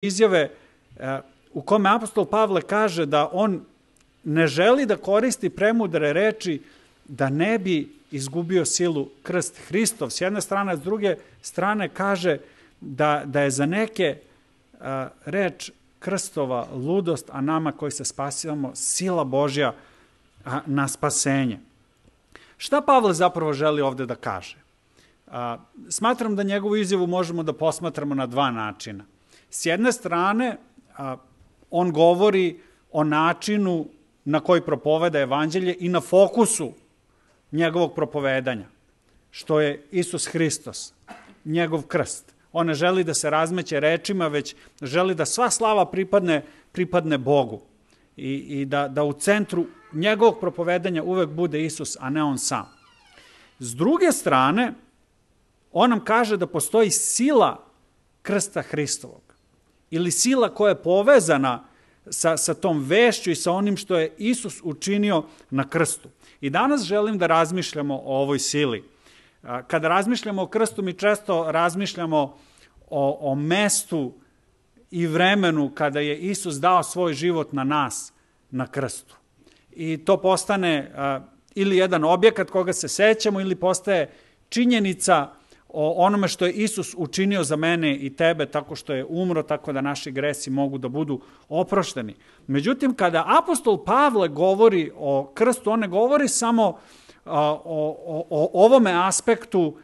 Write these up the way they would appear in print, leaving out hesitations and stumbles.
izjave u kome apostol Pavle kaže da on ne želi da koristi premudre reči da ne bi izgubio silu krst Hristov. S jedne strane, s druge strane kaže da je za neke reč krstova ludost, a nama koji se spasivamo sila Božja na spasenje. Šta Pavle zapravo želi ovde da kaže? Smatram da njegovu izjavu možemo da posmatramo na dva načina. S jedne strane, on govori o načinu na koji propoveda evanđelje i na fokusu njegovog propovedanja, što je Isus Hristos, njegov krst. On ne želi da se razmeće rečima, već želi da sva slava pripadne Bogu i da u centru njegovog propovedanja uvek bude Isus, a ne on sam. S druge strane, on nam kaže da postoji sila krsta Hristovog ili sila koja je povezana sa tom vešću i sa onim što je Isus učinio na krstu. I danas želim da razmišljamo o ovoj sili. Kada razmišljamo o krstu, mi često razmišljamo o mestu i vremenu kada je Isus dao svoj život na nas na krstu. I to postane ili jedan objekat koga se sećamo ili postaje činjenica o onome što je Isus učinio za mene i tebe tako što je umro, tako da naši gresi mogu da budu oprošteni. Međutim, kada apostol Pavle govori o krstu, on ne govori samo o ovome aspektu,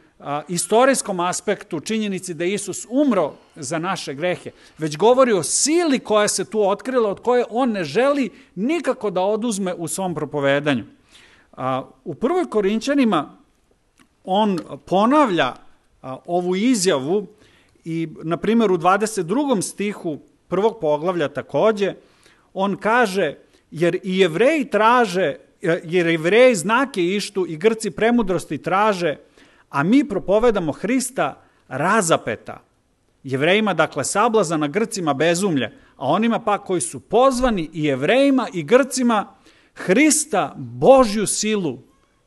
istorijskom aspektu, činjenici da je Isus umro za naše grehe, već govori o sili koja se tu otkrila, od koje on ne želi nikako da oduzme u svom propovedanju. U 1. Korinćanima on ponavlja ovu izjavu i, na primjer, u 22. stihu prvog poglavlja takođe, on kaže, jer Jevreji znake ištu i Grci premudrosti traže, a mi propovedamo Hrista razapeta. Jevrejima, dakle, sablazan, a Grcima bezumlje, a onima pa koji su pozvani i Jevrejima i Grcima Hrista Božju silu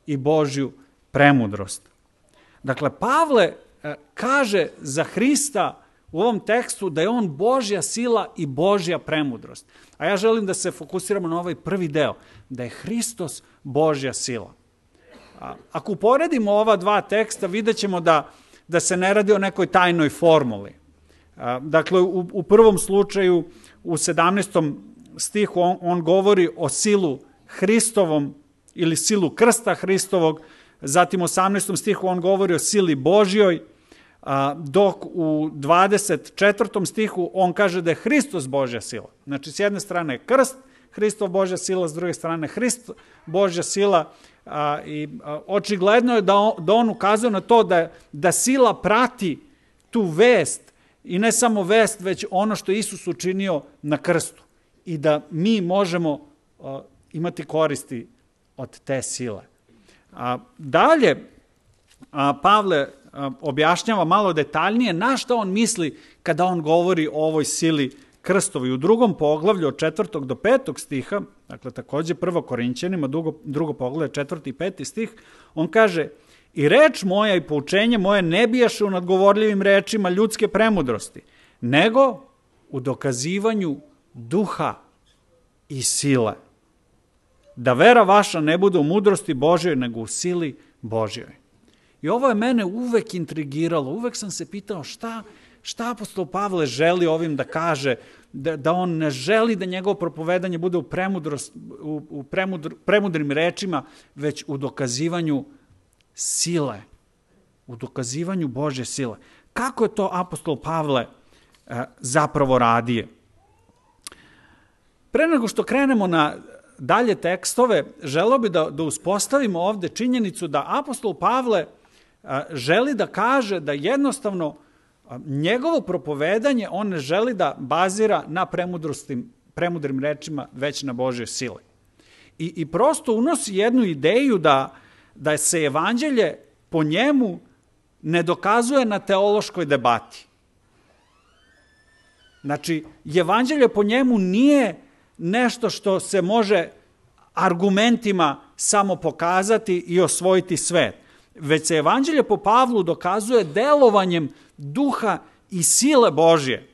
i Božju premudrost. Dakle, Pavle kaže za Hrista u ovom tekstu da je on Božja sila i Božja premudrost. A ja želim da se fokusiramo na ovaj prvi deo, da je Hristos Božja sila. Ako uporedimo ova dva teksta, vidjet ćemo da se ne radi o nekoj tajnoj formuli. Dakle, u prvom slučaju, u 17. stihu, on govori o silu Hristovom ili silu krsta Hristovog, zatim u 18. stihu on govori o sili Božjoj, dok u 24. stihu on kaže da je Hristos Božja sila. Znači, s jedne strane je krst, Hristov Božja sila, s druge strane Hrist Božja sila, i očigledno je da on ukazuje na to da sila prati tu vest i ne samo vest, već ono što je Isus učinio na krstu i da mi možemo imati koristi od te sile. Dalje, Pavle objašnjava malo detaljnije na što on misli kada on govori o ovoj sili krstovi. U drugom poglavlju od 4. do 5. stiha, dakle takođe 1. Korinćanima, drugo poglavlje 4. i 5. stih, on kaže: i reč moja i poučenje moje ne bijaše u nadgovorljivim rečima ljudske premudrosti, nego u dokazivanju duha i sile. Da vera vaša ne bude u mudrosti Božjoj, nego u sili Božjoj. I ovo je mene uvek intrigiralo, uvek sam se pitao šta apostol Pavle želi ovim da kaže, da on ne želi da njegovo propovedanje bude u premudrim rečima, već u dokazivanju sile, u dokazivanju Božje sile. Kako je to apostol Pavle zapravo radio? Pre nego što krenemo na dalje tekstove, želeo bi da uspostavimo ovde činjenicu da apostol Pavle želi da kaže da jednostavno njegovo propovedanje on ne želi da bazira na premudrim rečima, već na Božjoj sili. I prosto unosi jednu ideju da se evanđelje po njemu ne dokazuje na teološkoj debati. Znači, evanđelje po njemu nije nešto što se može argumentima samo pokazati i osvojiti svet, već se evanđelje po Pavlu dokazuje delovanjem duha i sile Božje.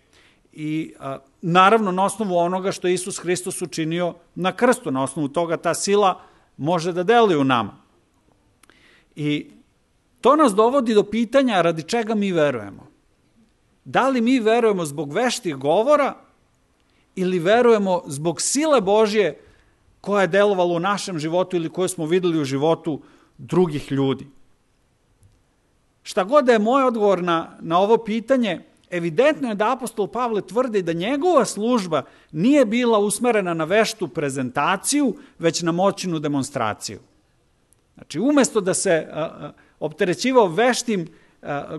i naravno na osnovu onoga što je Isus Hristos učinio na krstu. Na osnovu toga ta sila može da deluje u nama. I to nas dovodi do pitanja radi čega mi verujemo. Da li mi verujemo zbog veštih govora ili verujemo zbog sile Božje koja je delovala u našem životu ili koju smo videli u životu drugih ljudi. Šta god da je moj odgovor na ovo pitanje, evidentno je da apostol Pavle tvrdi da njegova služba nije bila usmerena na veštu prezentaciju, već na moćnu demonstraciju. Znači, umesto da se opterećivao veštim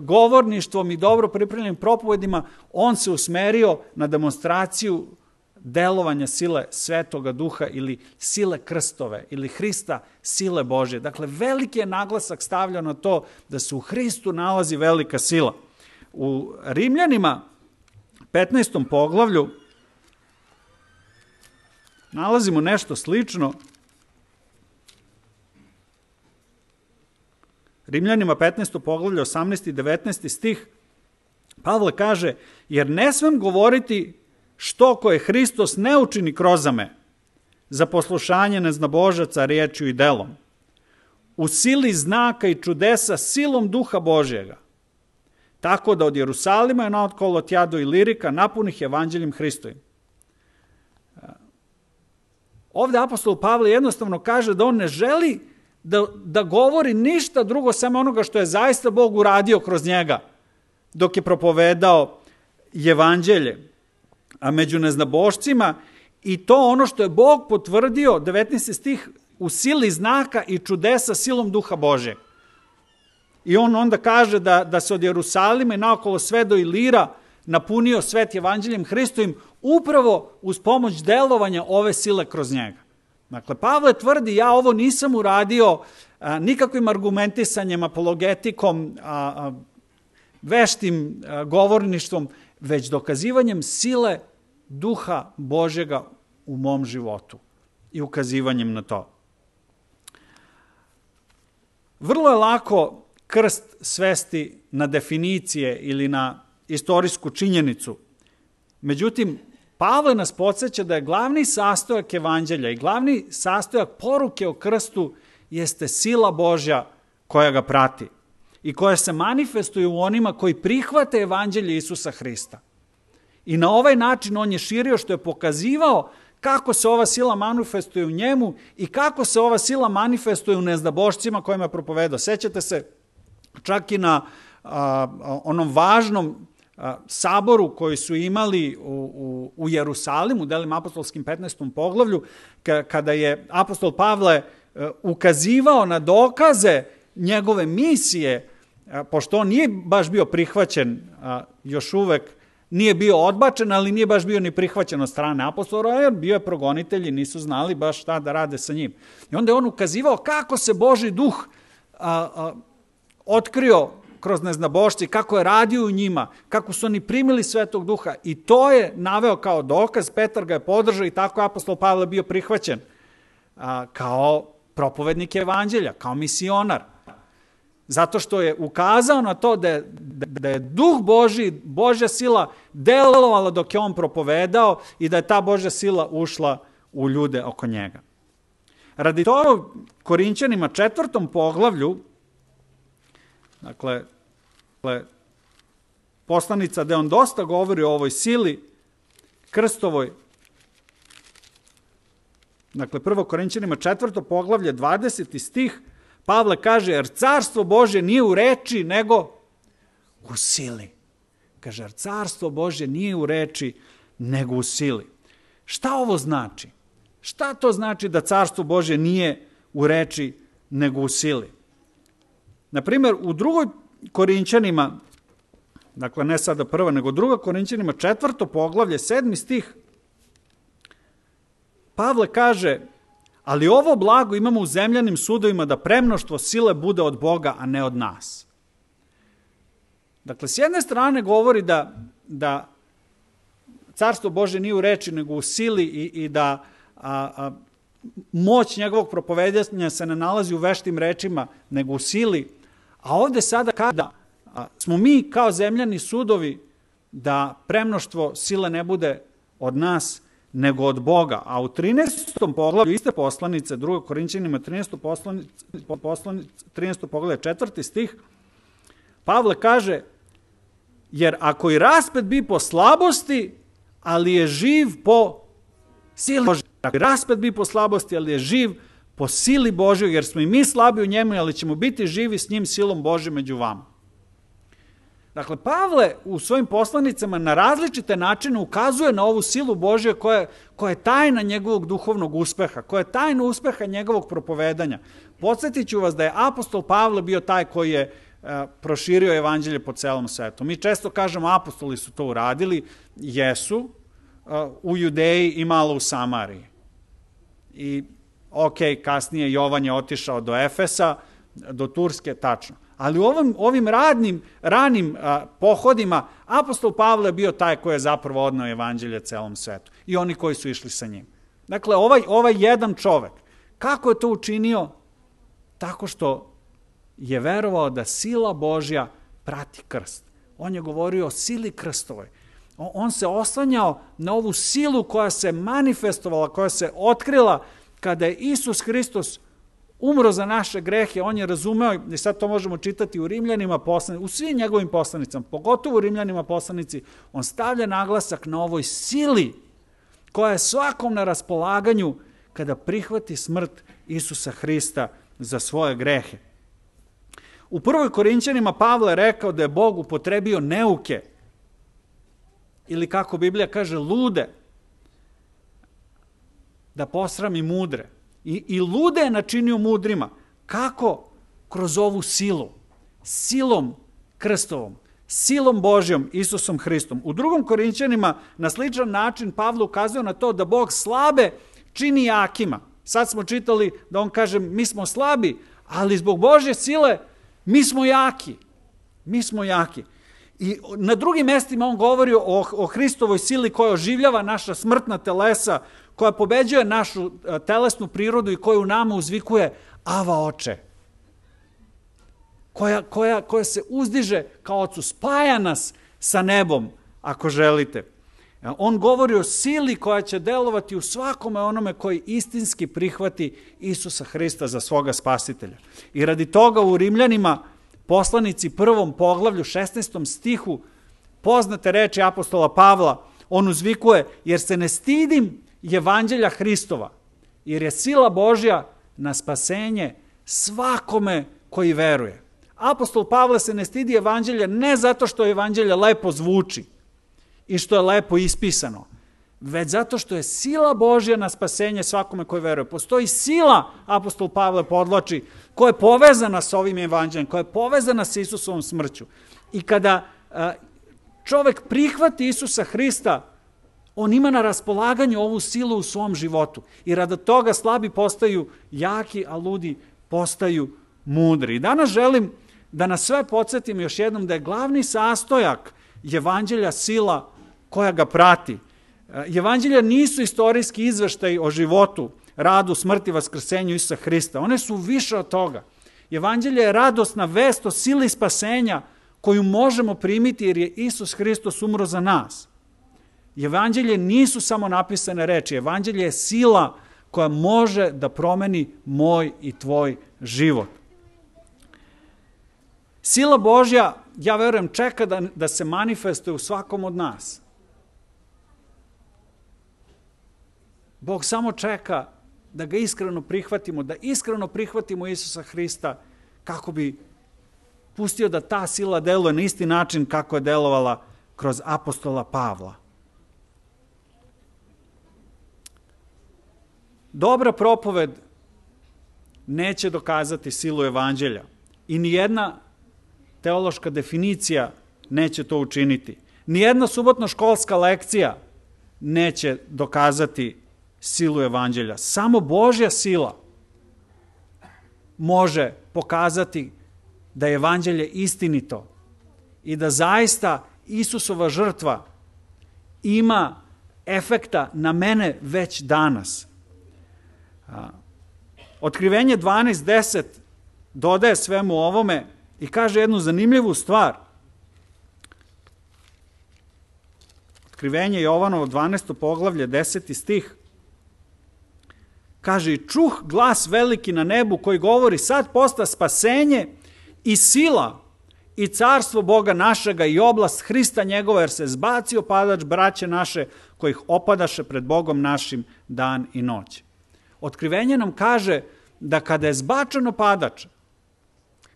govorništvom i dobro pripremljenim propovedima, on se usmerio na demonstraciju delovanja sile Svetoga Duha ili sile Krstove ili Hrista, sile Božje. Dakle, veliki je naglasak stavljan na to da se u Hristu nalazi velika sila. U Rimljanima 15. poglavlju nalazimo nešto slično. Rimljanima 15. poglavlje 18. i 19. stih Pavle kaže: jer ne smem govoriti što koje Hristos ne učini kroz me za poslušanje neznabožaca riječju i delom, u sili znaka i čudesa silom Duha Božjega, tako da od Jerusalima je naokolo tja do Ilirika napunih evanđeljem Hristovim. Ovde apostol Pavle jednostavno kaže da on ne želi da govori ništa drugo samo onoga što je zaista Bog uradio kroz njega dok je propovedao evanđelje, a među neznabošcima, i to ono što je Bog potvrdio, 19. stih, u sili znaka i čudesa silom Duha Božjeg. I on onda kaže da se od Jerusalima i naokolo sve do Ilira napunio svet evanđeljem Hristovim upravo uz pomoć delovanja ove sile kroz njega. Dakle, Pavle tvrdi: ja ovo nisam uradio nikakvim argumentisanjem, apologetikom, veštim govorništvom, već dokazivanjem sile Duha Božjega u mom životu i ukazivanjem na to. Vrlo je lako krst svesti na definicije ili na istorijsku činjenicu. Međutim, Pavle nas podsjeća da je glavni sastojak evanđelja i glavni sastojak poruke o krstu jeste sila Božja koja ga prati i koja se manifestuje u onima koji prihvate evanđelje Isusa Hrista. I na ovaj način on je širio, što je pokazivao kako se ova sila manifestuje u njemu i kako se ova sila manifestuje u neznabošcima kojima je propovedao. Sećate se čak i na onom važnom saboru koji su imali u Jerusalimu, u Delima apostolskim 15. poglavlju, kada je apostol Pavle ukazivao na dokaze njegove misije, pošto on nije baš bio prihvaćen, još uvek nije bio odbačen, ali nije baš bio ni prihvaćen od strane apostola, jer bio je progonitelj i nisu znali baš šta da rade sa njim. I onda je on ukazivao kako se Božji duh otkrio kroz neznabošci, kako je radio u njima, kako su oni primili Svetog Duha, i to je naveo kao dokaz. Petar ga je podržao i tako je apostol Pavle bio prihvaćen kao propovednik evanđelja, kao misionar. Zato što je ukazao na to da je Duh Božji, Božja sila delovala dok je on propovedao i da je ta Božja sila ušla u ljude oko njega. Radi toga Korinćanima 4. poglavlju, dakle, poslanica gde on dosta govori o ovoj sili krstovoj, dakle 1. Korinćanima 4. poglavlje 20. stih, Pavle kaže: jer carstvo Božje nije u reči, nego u sili. Kaže, jer carstvo Božje nije u reči, nego u sili. Šta ovo znači? Šta to znači da carstvo Božje nije u reči, nego u sili? Naprimjer, u 2. Korinćanima, dakle ne sada 1. nego 2. Korinćanima 4. poglavlje 7. stih, Pavle kaže: ali ovo blago imamo u zemljanim sudovima, da premnoštvo sile bude od Boga, a ne od nas. Dakle, s jedne strane govori da carstvo Božje nije u reči, nego u sili i da moć njegovog propovedanja se ne nalazi u veštim rečima, nego u sili. A ovde sada kada smo mi kao zemljani sudovi da premnoštvo sile ne bude od nas, nego od Boga. A u 13. poglavlju iste poslanice, 2. Korinćanima 13. poglavlje 4. stih, Pavle kaže, jer ako i raspet bi po slabosti, ali je živ po sili Božoj. Raspet bi po slabosti, ali je živ po sili Božoj, jer smo i mi slabi u njemu, ali ćemo biti živi s njim silom Božje među vama. Dakle, Pavle u svojim poslanicama na različite načine ukazuje na ovu silu Božje koja je tajna njegovog duhovnog uspeha, koja je tajna uspeha njegovog propovedanja. Podsjetit ću vas da je apostol Pavle bio taj koji je proširio evanđelje po celom svetu. Mi često kažemo apostoli su to uradili, jesu, u Judeji i malo u Samariji. I kasnije Jovan je otišao do Efesa, do Turske, tačno. Ali u ovim ranim pohodima apostol Pavle je bio taj koji je zapravo odneo evanđelje celom svetu i oni koji su išli sa njim. Dakle, ovaj jedan čovek, kako je to učinio? Tako što je verovao da sila Božja prati krst. On je govorio o sili krstovoj. On se oslanjao na ovu silu koja se manifestovala, koja se otkrila kada je Isus Hristos umro za naše grehe. On je razumeo, i sad to možemo čitati u Rimljanima, u svim njegovim poslanicama, pogotovo u Rimljanima poslanici, on stavlja naglasak na ovoj sili koja je svakom na raspolaganju kada prihvati smrt Isusa Hrista za svoje grehe. U 1. Korinćanima Pavle je rekao da je Bog upotrebio neuke, ili kako Biblija kaže, lude, da posrami mudre. I lude je načinio mudrima. Kako? Kroz ovu silu. Silom krstovom. Silom Božjom, Isusom Hristom. U 2. Korinćanima na sličan način Pavle ukazuje na to da Bog slabe čini jakima. Sad smo čitali da on kaže mi smo slabi, ali zbog Božje sile mi smo jaki. Mi smo jaki. I na drugim mestima on govori o Hristovoj sili koja oživljava naša smrtna telesa, koja pobeđuje našu telesnu prirodu i koja u nama uzvikuje Ava Oče. Koja se uzdiže kao Ocu, spaja nas sa nebom, ako želite. On govori o sili koja će delovati u svakome onome koji istinski prihvati Isusa Hrista za svoga spasitelja. I radi toga u Rimljanima, poslanici 1. poglavlju 16. stihu, poznate reči apostola Pavla, on uzvikuje, jer se ne stidim evanđelja Hristova, jer je sila Božja na spasenje svakome koji veruje. Apostol Pavle se ne stidi evanđelja ne zato što evanđelje lepo zvuči i što je lepo ispisano, već zato što je sila Božja na spasenje svakome koji veruje. Postoji sila, apostol Pavle podvlači, koja je povezana sa ovim evanđeljem, koja je povezana sa Isusovom smrću. I kada čovek prihvati Isusa Hrista, on ima na raspolaganju ovu silu u svom životu. I radi toga slabi postaju jaki, a ludi postaju mudri. I danas želim da nas sve podsjetim još jednom da je glavni sastojak evanđelja sila koja ga prati. Evanđelja nisu istorijski izveštaj o životu, radu, smrti, vaskrsenju Isusa Hrista. One su više od toga. Evanđelje je radosna vest o sili spasenja koju možemo primiti jer je Isus Hristos umro za nas. Evanđelje nisu samo napisane reči. Evanđelje je sila koja može da promeni moj i tvoj život. Sila Božja, ja verujem, čeka da se manifestuje u svakom od nas. Bog samo čeka da ga iskreno prihvatimo, da iskreno prihvatimo Isusa Hrista kako bi pustio da ta sila deluje na isti način kako je delovala kroz apostola Pavla. Dobra propoved neće dokazati silu evanđelja i nijedna teološka definicija neće to učiniti. Nijedna subotno školska lekcija neće dokazati silu evanđelja. Samo Božja sila može pokazati da je evanđelje istinito i da zaista Isusova žrtva ima efekta na mene već danas. Otkrivenje 12.10 dodaje svemu ovome i kaže jednu zanimljivu stvar. Otkrivenje Jovanovo 12. poglavlje, 10. stih, kaže, i čuh glas veliki na nebu koji govori, sad posta spasenje i sila i carstvo Boga našega i oblast Hrista njegova, jer se zbacio padač braće naše, kojih opadaše pred Bogom našim dan i noć. Otkrivenje nam kaže da kada je zbačeno padač,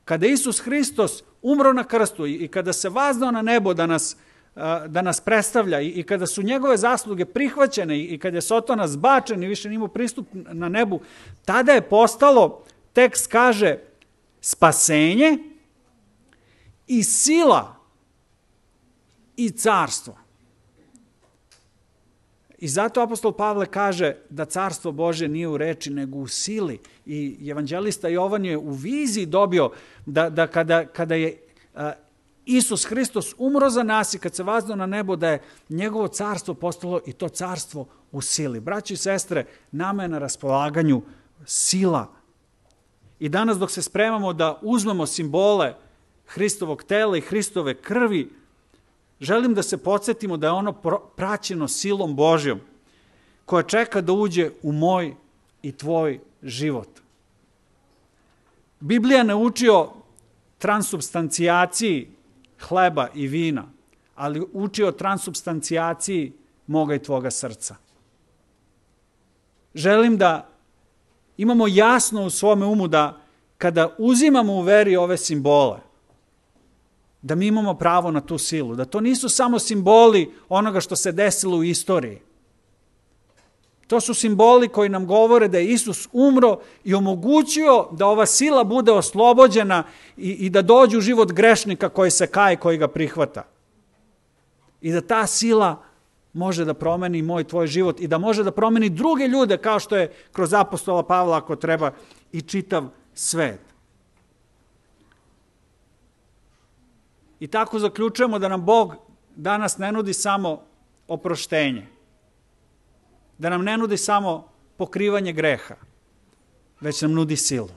kada je Isus Hristos umro na krstu i kada se vaznao na nebo da nas predstavlja i kada su njegove zasluge prihvaćene i kada je Sotona zbačen i više nimao pristup na nebu, tada je postalo, tekst kaže, spasenje i sila i carstvo. I zato apostol Pavle kaže da carstvo Božje nije u reči nego u sili. I evanđelista Jovan je u viziji dobio da kada je Isus Hristos umro za nas i kad se vaznao na nebo, da je njegovo carstvo postalo i to carstvo u sili. Braći i sestre, nama je na raspolaganju sila. I danas dok se spremamo da uzmemo simbole Hristovog tela i Hristove krvi, želim da se podsjetimo da je ono praćeno silom Božjom, koja čeka da uđe u moj i tvoj život. Biblija ne uči o transubstancijaciji hleba i vina, ali uči o transubstancijaciji moga i tvoga srca. Želim da imamo jasno u svome umu da kada uzimamo u veri ove simbole, da mi imamo pravo na tu silu, da to nisu samo simboli onoga što se desilo u istoriji. To su simboli koji nam govore da je Isus umro i omogućio da ova sila bude oslobođena i da dođe u život grešnika koji se kaje, koji ga prihvata. I da ta sila može da promeni moj tvoj život i da može da promeni druge ljude, kao što je kroz apostola Pavla, ako treba, i čitav svet. I tako zaključujemo da nam Bog danas ne nudi samo oproštenje, da nam ne nudi samo pokrivanje greha, već nam nudi silu.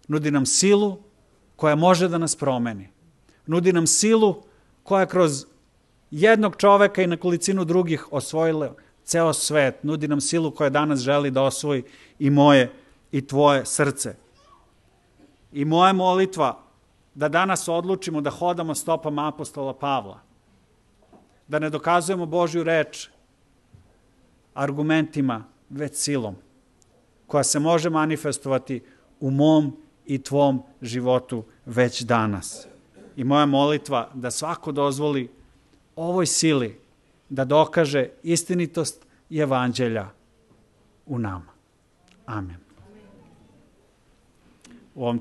Nudi nam silu koja može da nas promeni. Nudi nam silu koja kroz jednog čoveka i nekolicinu drugih osvojila ceo svet. Nudi nam silu koja danas želi da osvoji i moje i tvoje srce. I moja molitva da danas odlučimo da hodamo stopama apostola Pavla, da ne dokazujemo Božju reč argumentima, već silom, koja se može manifestovati u mom i tvom životu već danas. I moja molitva da svako dozvoli ovoj sili da dokaže istinitost evanđelja u nama. Amen. U ovom